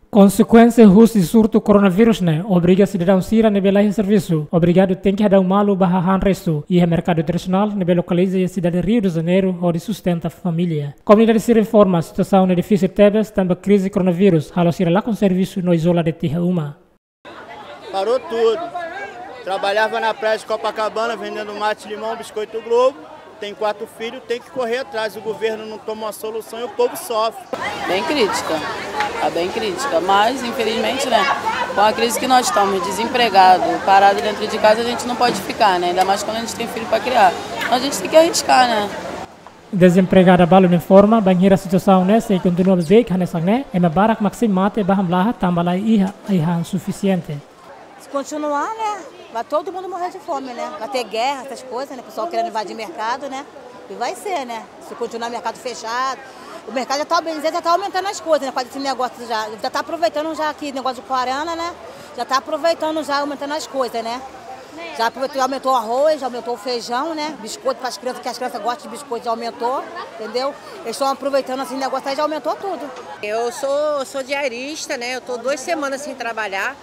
Konsekuénsia husi surtu koronavírus ne'e obriga sidadaun sira ne'ebé la iha servisu obrigadu tenke hadau malu ba hahán restu iha merkadu tradisionál ne'ebé lokaliza iha sidade Rio de Janeiro hodi sustenta família. Komunidade sira informa situasaun ne'e difisil tebes tanba krize koronavírus halo sira lakon servisu no izola de'it iha uma. Parou tudo. Trabalhava na praia de Copacabana vendendo mate, limão, biscoito Globo. Tem quatro filhos, tem que correr atrás. O governo não toma uma solução e o povo sofre. Bem crítica, tá bem crítica, mas infelizmente, né, com a crise que nós estamos, desempregado, parado dentro de casa, a gente não pode ficar, né, ainda mais quando a gente tem filho pra criar. Então a gente tem que arriscar, né? Dezempregada balu ne'e informa, bainhira situasaun ne'e sei kontinua bebeik hanesan ne'e, ema barak mak sei mate ba hamlaha tanba la iha ai-han sufisiente. Se continuar, né, vai todo mundo morrer de fome, né? Vai ter guerra, essas coisas, né? O pessoal querendo invadir mercado, né? E vai ser, né? Se continuar mercado fechado, o mercado já tá, bem dizer, já tá aumentando as coisas, né? Com esse negócio já, já tá aproveitando já aqui, negócio de quarentena, né? Já tá aproveitando já, aumentando as coisas, né? Já aproveitou, aumentou o arroz, já aumentou o feijão, né? Biscoito para as crianças, que as crianças gostam de biscoito, já aumentou, entendeu? Eles estão aproveitando assim, negócio aí já aumentou tudo. Eu sou, sou diarista, né? Eu tô duas semanas sem trabalhar,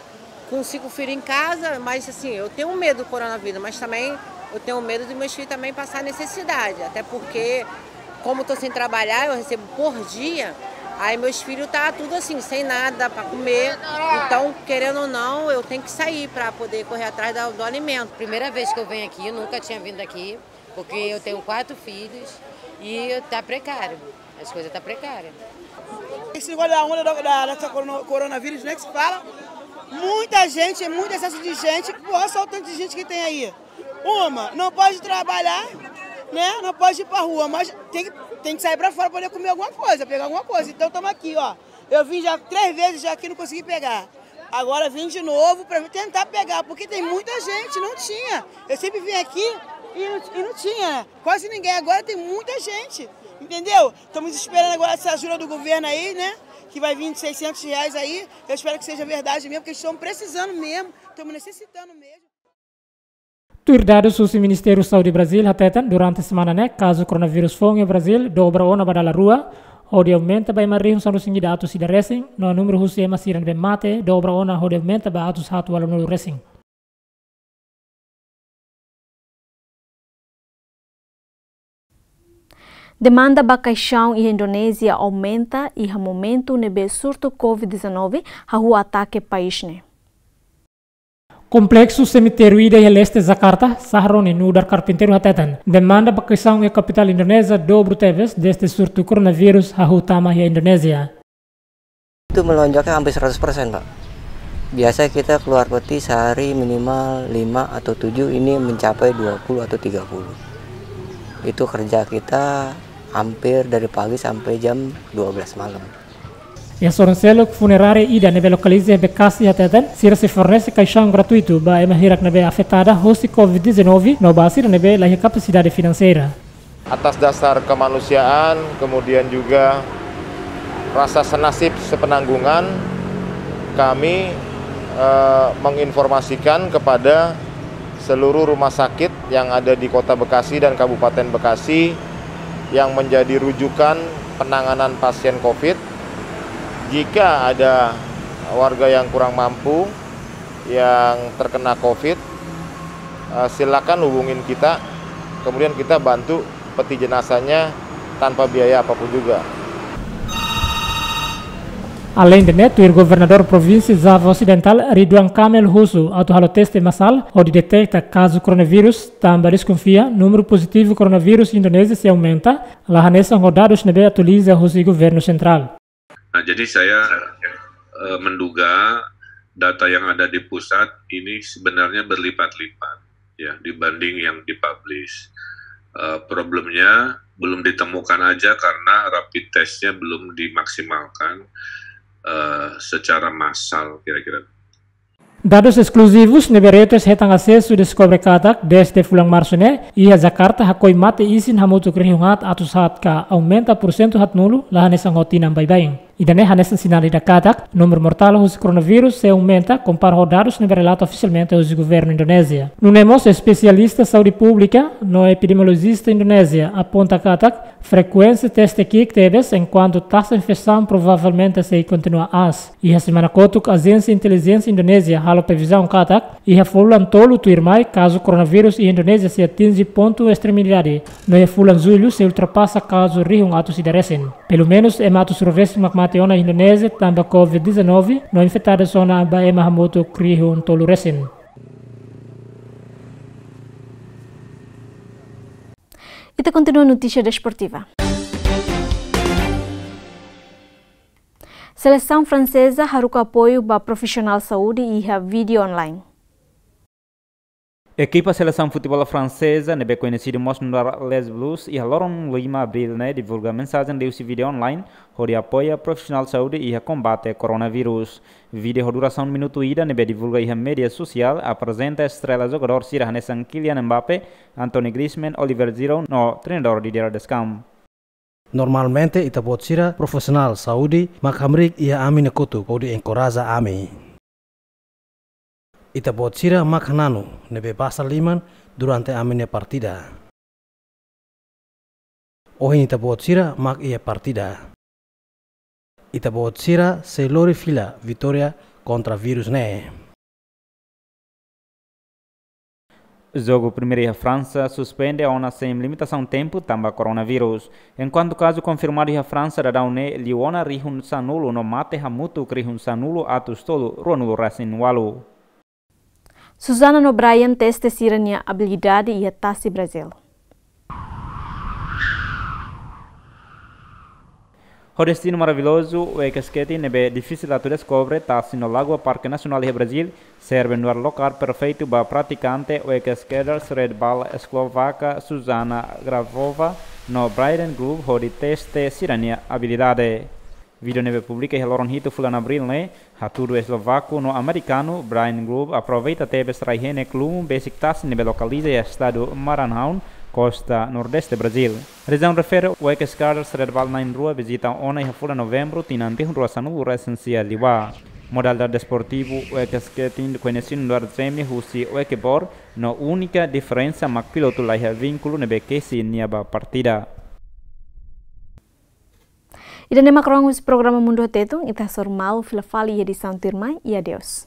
com cinco filhos em casa, mas assim, eu tenho medo do coronavírus, mas também eu tenho medo dos meus filhos também passar necessidade, até porque, como eu tô sem trabalhar, eu recebo por dia, aí meus filhos tá tudo assim, sem nada pra comer, então, querendo ou não, eu tenho que sair pra poder correr atrás da, do alimento. Primeira vez que eu venho aqui, nunca tinha vindo aqui, porque eu tenho quatro filhos e tá precário, as coisas tá precárias. Esse negócio da onda da, da, dessa corona-, coronavírus, né, que se fala, muita gente, é muito excesso de gente, porra, só o tanto de gente que tem aí. Uma, não pode trabalhar, né, não pode ir pra rua, mas tem que, tem que sair pra fora pra poder comer alguma coisa, pegar alguma coisa. Então, tamo aqui, ó. Eu vim já três vezes já aqui, não consegui pegar. Agora vim de novo pra tentar pegar, porque tem muita gente, não tinha. Eu sempre vim aqui e não, e não tinha quase ninguém. Agora tem muita gente, entendeu? Estamos esperando agora essa ajuda do governo aí, né? Que vai vir de seiscentos reais aí. Eu espero que seja verdade mesmo, porque estão precisando mesmo, estamos necessitando mesmo. Tuir dadus husi Ministériu Saúde Brazil hateten, durante semana ne'e, kazu koronavírus foun iha Brazil dobra ona ba dala rua, hodi aumenta ba ema rihun sanulu-resin-ida atus ida resin, no númeru husi ema sira ne'ebé mate dobra ona hodi aumenta ba atus haat ualunulu resin. Demanda ba kaixaun iha Indonézia aumenta iha momentu ne'ebé surtu covid dezanove hahú atake país ne'e. Kompleksu semitériu ida iha leste Jakarta, Sahroni nu'udar karpinteiru hateten, demanda ba kaixaun iha kapitál Indonézia dobru tebes dezde surtu koronavírus hahú tama iha Indonézia. Itu melonjaknya hampir seratus persen, Pak. Biasa kita keluar peti sehari minimal lima atau tujuh, ini mencapai dua puluh atau tiga puluh. Itu kerja kita hampir dari pagi sampai jam dua belas malam. Iha sorin seluk funerária ida ne'ebé lokaliza iha Bekasi hateten, sira sei fornese kaixaun gratuitu ba ema hirak ne'ebé afetada hosi covid dezanove, no ba sira ne'ebé la iha kapasidade finanseira. Atas dasar kemanusiaan, kemudian juga rasa senasib sepenanggungan, kami, eh, menginformasikan kepada seluruh rumah sakit yang ada di Kota Bekasi dan Kabupaten Bekasi yang menjadi rujukan penanganan pasien covid. Jika ada warga yang kurang mampu, yang terkena covid, eh, silakan hubungin kita, kemudian kita bantu peti jenazahnya tanpa biaya apapun juga. Aleinde ne'e, tuir Governadór Provínsia Java Osidentál, Ridwan Kamil husu atu halo teste masál hodi deteta kazu koronavírus, tanba deskonfia númeru pozitivu koronavírus Indonézia sei aumenta, la hanesan ho dadus ne'ebé atualiza husi Governu Sentrál. Nah, jadi saya, eh, menduga data yang ada di pusat ini sebenarnya berlipat-lipat, ya, dibanding yang dipublish. Eh, problemnya belum ditemukan aja karena rapid testnya belum dimaksimalkan, eh, secara massal kira-kira. Dadus eskluzivus ne'ebé Reuters hetan asesu deskobre katak, dezde fulan Marsu ne'e, iha Jakarta hakoi mate isin hamutuk rihun haat atus haat ka aumenta porsentu haatnulu, la hanesan ho tinan baibain. Ida-ne'e hanesan sinál ida katak, númeru mortál husi koronavírus sei aumenta, kompara ho dadus ne'ebé relata ofisialmente husi Governu Indonézia. Nune'e mós espesialista saúde públika no epidemiolojista Indonézia aponta katak, frekuénsia teste ki'ik tebes, enkuantu taxa infesaun provavelmente sei kontinua aas. Iha semana kotuk, Ajénsia Intelijénsia Indonézia halo previzaun katak, iha fulan tolu tuirmai, kazu koronavírus iha Indonézia sei atinje pontu estremidade, no iha fulan Jullu sei ultrapasa kazu rihun atus ida resin. Pelumenus ema atus rua resin mak mate ona iha Indonézia tanba covid dezanove, no infetadus ona ba ema hamutuk rihun tolu resin. Ita kontinua notísia desportiva. Selesaun franseza haruka apoiu ba profisionál saúde iha vídeo online. Ekipa selesaun futeból franseza, ne'ebé koñesidu mós nu'udar Les Bleus, iha loron lima Abríl ne'e divulga mensajen liuhusi vídeo online, hodi apoia profisionál saúde iha kombate koronavírus. Vídeo ho durasaun minutu ida ne'ebé divulga iha média sosiál aprezenta estrela jogadór sira hanesan Kylian Mbappé, Antoine Griezmann, Olivier Giroud no treinadór Didier Deschamps. Normalmente ita-boot sira profisionál saúde mak hamriik iha ami-nia kotuk hodi enkoraja ami. Ita-boot sira mak hananu ne'ebé basa liman durante ami-nia partida. Ohin ita-boot sira mak iha partida. Ita-boot sira sei lori fila vitória kontra vírus ne'e. Jogu primeiru iha Fransa suspende ona sein limitasaun tempu tanba koronavírus. Enkuantu kazu konfirmadu iha Fransa daudaun ne'e liu ona rihun sanulu no mate hamutuk rihun sanulu atus tolu ruanulu resin ualu. Susana no Brian teste sira-nia abilidade iha tasi Brazil. Ho destinu maravillozu, wake skating ne'ebé difisil atu deskobre, tasi no lagoa Parke Nasionál iha Brazil, serve nu'udar lokál perfeitu ba pratikante wake skaters red ball eslovaka Susana Gravova no Brian Grube hodi teste sira-nia abilidade. Vídeo ne'ebé publika iha loron hitu fulan Abríl ne'e, hatudu eslovaku no amerikanu Brian Grube aproveita tebes rai-henek lumu besik tasi ne'ebé lokaliza iha estadu Maranhão, kosta nordeste Brazil. Razaun refere, wake skaters red ball na'in-rua vizita ona iha fulan Novembru tinan rihun rua sanulu resin sia liubá. Modalidade desportivu wake skating koñesidu nu'udar zemi husi wakeboard, no únika diferensa mak pilotu laiha vínkulu ne'ebé kesi nia ba partida. Ida-ne'e mak rohan husi programa Mundu Tetun, ita hasoru malu fila fali iha edisaun tuirmai, i adeus.